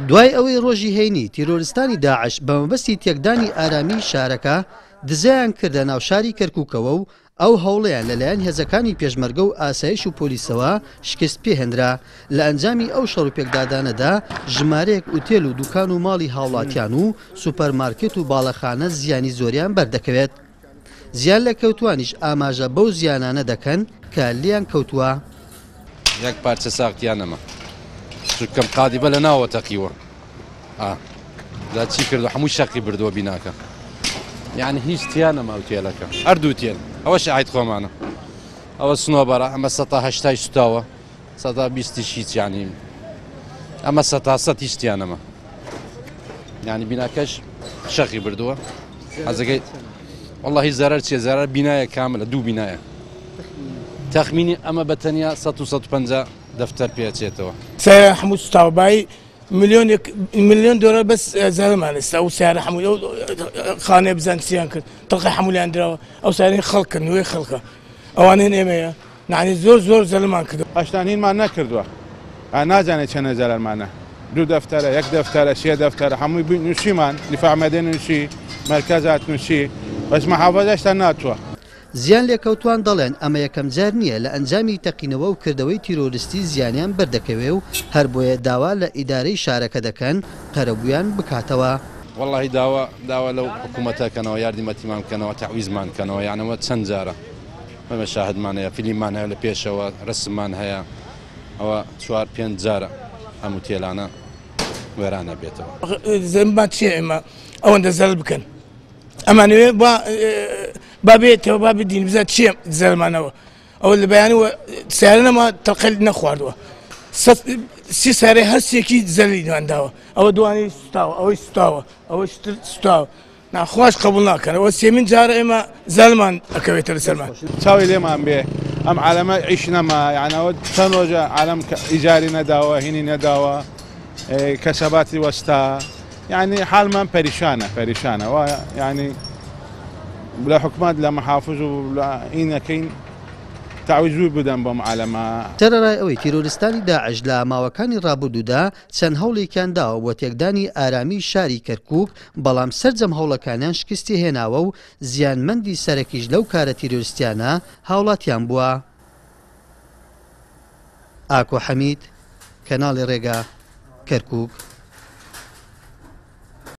دوای ئەوەی ڕۆژی هەینی تیرۆرستانی داعش بە مەبەستی تێکدانی ئارامیی شارەکە دزەیان کردە ناو شاری کەرکووکەوە و ئەو هەوڵەیان لەلایەن هێزەکانی پێشمەرگە و ئاسایش و پۆلیسەوە شکست پێهێنرا، لە ئەنجامی ئەو شەڕوپێکدادانەدا ژمارەیەک ئوتێل و دوکان و ماڵی هاوڵاتیان و سوپەرمارکێت و باڵەخانە زیانی زۆریان بەردەکەوێت. زیان لێکەوتووانیش ئاماژە بەو زیانانە دەکەن کە لێیان کەوتووە. یەک پارچە ساغ تیا نەما چونکەم قادیبە لە ناوە تەقیوە ئا جا چی کردو هەموو شەقی بردووە بیناکە یعنی هیچ تیا نەما ئوتێلەکە هەردوو تێل ئەوە شاهید خۆمانە ئەوە سنۆبەرە ئەمە سەتا هەشتای سوتاوە سەتا بیستیش هیچ یعنی ئەمە سەتا سەد هیچ تیا نەما یعنی بیناکەش شەقی بردووە حەزەکەی واللهی زەرەر چیە زەرەر بینایە کاملە دوو بینایە تەخمینی ئەمە بە تەنیا 100 و 150 دەفتەر پێچێتەوە. سەیارە هەموو سوتاوە بایی ملیۆنێک ملیۆن دۆلار بەس زەرەرمان ئێستا ئەو سەیارە هەموو ئەو خانەیە بزان چیان کرد تەڵقی هەموو لیان دراوە ئەو سەیارەی خەڵکە نوێی خەڵکە ئەوانەی ئێمەیە یعنی زۆر زۆر زەرەرمان کردووە. هەشتان هینمان نەکردووە نازانێت چەنە زەرەرمانە دوو دەفتەرە یەک دەفتەرە سێ دەفتەرە هەمووی نووسیمان دیفاع مەدەنی نووسی مەرکەزات نووسی بەس محافەزە هێشتا ناتووە. زیان لێکەوتوان دەڵێن ئەمە یەکەم جار نییە لە ئەنجامی تەقینەوە و کردەوەی تیرۆرستی زیانیان بەردەکەوێ و هەربۆیە داوا لە ئیدارەی شارەکە دەکەن قەرەبوویان بکاتەوە. وەڵاهی داوا داوا لەو حکوومەتە کەنەوە یاردیمەتیمان بکەنەوە تەعویزمان کەنەوە یان ئەوە چەند جارە ئێمە شاهدمان هەیە فیلیممان هەیە لە پێشەوە رەسممان هەیە ئەوە چوار پێنج جارە ئەم وتێلانە وێرانە بێتەوە. زەنبمان چییە ئێمە ئەوەندە زەرەر بکەن ئەمانەوێ با با بێتەوە با بدین بزان چییە زەرمانەوە ئەوە لە بەیانەوە سیارە نەما تەقل نەخواردووە سی سارەی هەرسێکی زەلی داوە ئەوە دوانی سوتاوە ئەوەی سوتاوە ئەوەش سوتاوە ناخواش قبول ناکەن ئەوە سێمین جارە ئێمە زەلمان ئەکەوێتە لەسەرمان. چاوی لێمان بێ ئەم عالەمە عیش نەما یان ئەوە چەند ڕۆژە عالەم ئیجاری نەداوە هینی نەداوە کەسەباتی وەستا یعنی حالمان پەریشانە پەریشانە وا یعنی لە حکومەت لە محافظ و لە ئینەکەین تعویض بدەن بەم عالەمە. سەرەڕای ئەوەی تیرۆرستانی داعش لە ماوەکانی ڕابردوودا چەند هەوڵێکیان داوە بۆ تێکدانی ئارامیی شاری کەرکووک، بەڵام سەرجەم هەوڵەکانیان شکستی هێناوە و زیانمەندی سەرەکیش لەو کارە تیرۆرستیانە هاوڵاتیان بووە. ئاکۆ حەمید، کەناڵی ڕێگا، کەرکووک.